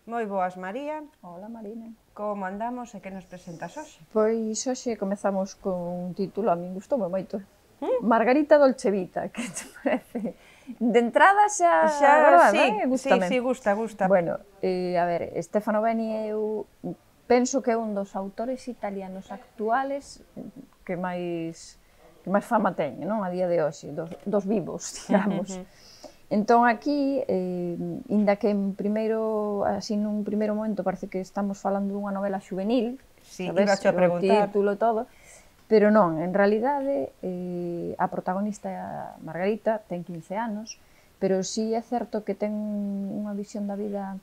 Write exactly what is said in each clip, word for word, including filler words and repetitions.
Moi boas, María. Hola, Marina. Como andamos e que nos presentas hoxe? Pois hoxe comezamos con un título, a min gustoume moito. ¿Mm? Margarita Dolcevita, que te parece? De entrada xa, xa verdade, sí, eh? Gústame. Sí, sí, gusta, gusta. Bueno, eh, a ver, Stefano Beni eu penso que é un dos autores italianos actuales que máis que máis fama teñe, non? A día de hoxe, dos, dos vivos, digamos. Uh -huh. Entón aquí, eh, inda que en primeiro, así nun primeiro momento parece que estamos falando dunha novela xuvenil, sí, sabes, iba a preguntar. O título e todo, pero non, en realidade eh, a protagonista Margarita ten quince anos, pero sí é certo que ten unha visión da vida,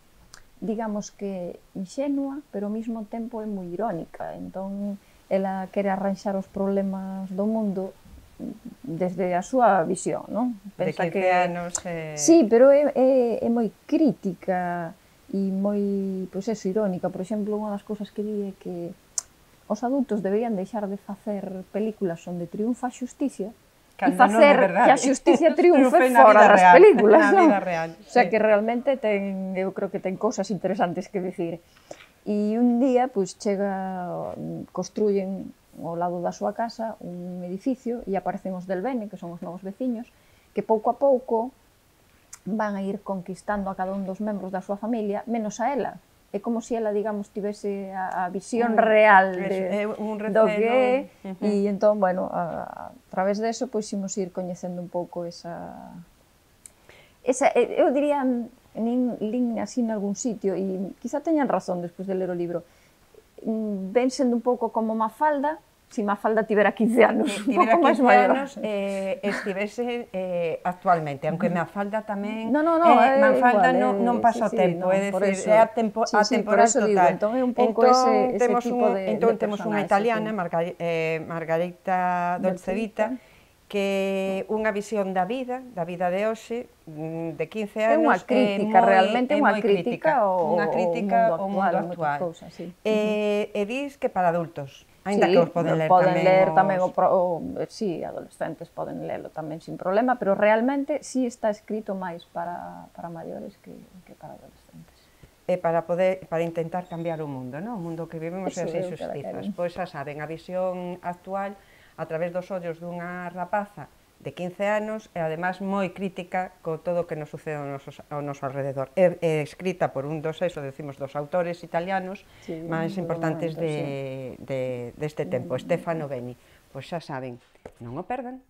digamos que inxenua, pero ao mesmo tempo é moi irónica, entón ela quere arranxar os problemas do mundo desde a súa visión, non? Pensa de quince que... anos... Eh... Sí, pero é, é, é moi crítica e moi, pois eso, irónica. Por exemplo, unha das cousas que di é que os adultos deberían deixar de facer películas onde triunfa a xusticia e facer no que a xusticia triunfe fora das real, películas, non? Na vida real, sí. O sea, que realmente ten, eu creo que ten cousas interesantes que dicir. E un día, pois, chega, construyen ao lado da súa casa un edificio e aparecen os del Bene, que son os novos veciños, que pouco a pouco van a ir conquistando a cada un dos membros da súa familia, menos a ela. É como se ela, digamos, tivese a, a visión un, real de, eso, un receno, do que é, uh -huh. E entón, bueno, a, a través deso, pois, imos ir coñecendo un pouco esa... esa eu diría, nin, lin así en algún sitio, e quizá teñan razón despois de ler o libro, ven sendo un pouco como Mafalda, si Mafalda tivera quince anos, un pouco máis maior. Anos, eh, estivese eh, actualmente, aunque Mafalda tamén... No, no, no, eh, Mafalda igual, non, non pasa o sí, tempo, é sí, no, dicir, é atempo, sí, atemporal sí, total. Digo, entón é un pouco entón, ese, ese temos tipo un, de Entón de temos unha italiana, sí. Margar, eh, Margarita Dolcevita, que unha visión da vida, da vida de hoxe, de quince anos, é unha crítica, moi, realmente é unha crítica, crítica ao, unha crítica ao mundo actual. Ao mundo actual. Cousas, sí. eh, e dis que para adultos, ainda sí, que os poden ler poden tamén ler os... tamén o, o, sí, adolescentes poden lelo tamén sin problema, pero realmente sí está escrito máis para, para maiores que, que para adolescentes. E para poder, para intentar cambiar o mundo, non? O mundo que vivimos e as injustizas. Pois xa saben, a visión actual a través dos ollos dunha rapaza de quince anos e además moi crítica co todo o que nos sucede ao noso, ao noso alrededor. É, é escrita por un dos, eso decimos, dos autores italianos sí, máis importantes momento, de, sí. de, deste tempo, Stefano Beni. Pois xa saben, non o perdan.